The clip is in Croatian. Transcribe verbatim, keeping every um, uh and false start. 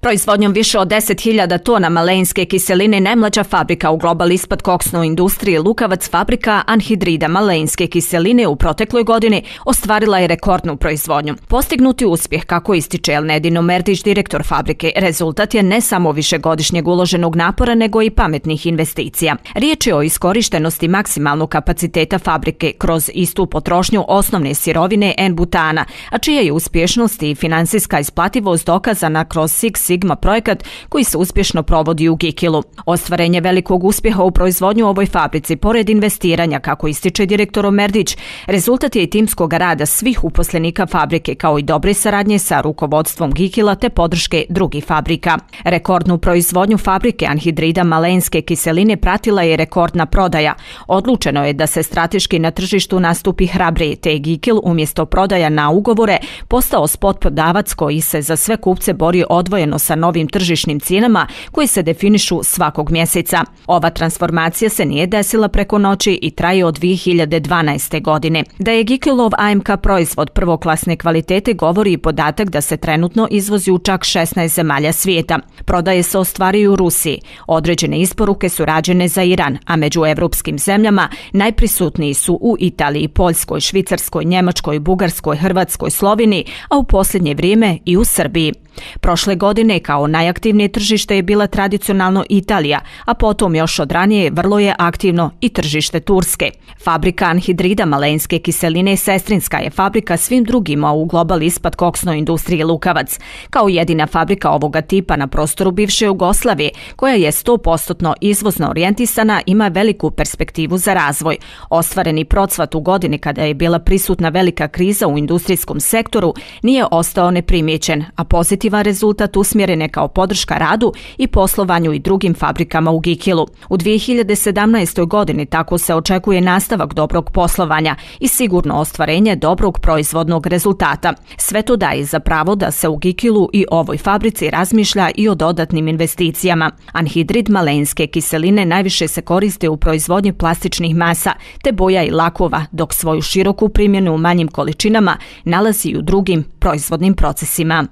Proizvodnjom više od deset hiljada tona malenjske kiseline najmlađa fabrika u Global Ispat koksnoj industriji Lukavac, fabrika anhidrida malenjske kiseline u protekloj godini ostvarila je rekordnu proizvodnju. Postignuti uspjeh, kako ističe Elnedino Merdić, direktor fabrike, rezultat je ne samo višegodišnjeg uloženog napora, nego i pametnih investicija. Riječ je o iskorištenosti maksimalnog kapaciteta fabrike kroz istu potrošnju osnovne sirovine N-butana, a čija je uspješnost i finansijska isplativost dokazana kroz Six Sigma projekat koji se uspješno provodi u Gikilu. Ostvarenje velikog uspjeha u proizvodnju u ovoj fabrici, pored investiranja, kako ističe direktor Merdić, rezultat je i timskog rada svih uposlenika fabrike, kao i dobre saradnje sa rukovodstvom Gikila te podrške drugih fabrika. Rekordnu proizvodnju fabrike anhidrida malenjske kiseline pratila je rekordna prodaja. Odlučeno je da se strateški na tržištu nastupi hrabrije, te je Gikil umjesto prodaja na ugovore postao spot prodavac koji se za sve kupce bori odvojeno sa novim tržišnim cijenama koje se definišu svakog mjeseca. Ova transformacija se nije desila preko noći i traje od dvije hiljade dvanaeste. godine. Da je Gikilov A M K proizvod prvoklasne kvalitete govori i podatak da se trenutno izvozi u čak šesnaest zemalja svijeta. Prodaje se ostvaruju u Rusiji. Određene isporuke su rađene za Iran, a među evropskim zemljama najprisutniji su u Italiji, Poljskoj, Švicarskoj, Njemačkoj, Bugarskoj, Hrvatskoj, Sloveniji, a u posljednje vrijeme i u Srbiji. Prošle godine kao najaktivnije tržište je bila tradicionalno Italija, a potom još od ranije vrlo je aktivno i tržište Turske. Fabrika anhidrida malenjske kiseline sestrinska je fabrika svim drugima u Global Ispat koksnoj industriji Lukavac. Kao jedina fabrika ovoga tipa na prostoru bivše Jugoslavije, koja je sto posto izvozno orijentisana, ima veliku perspektivu za razvoj. Ostvareni procvat u godini kada je bila prisutna velika kriza u industrijskom sektoru nije ostao neprimjećen, a pozitivan rezultat usmjeren je kao podrška radu i poslovanju i drugim fabrikama u Gikilu. U dvije hiljade sedamnaestoj. godini tako se očekuje nastavak dobrog poslovanja i sigurno ostvarenje dobrog proizvodnog rezultata. Sve to daje za pravo da se u Gikilu i ovoj fabrici razmišlja i o dodatnim investicijama. Anhidrid malenjske kiseline najviše se koriste u proizvodnji plastičnih masa te boja i lakova, dok svoju široku primjenu u manjim količinama nalazi i u drugim proizvodnim procesima.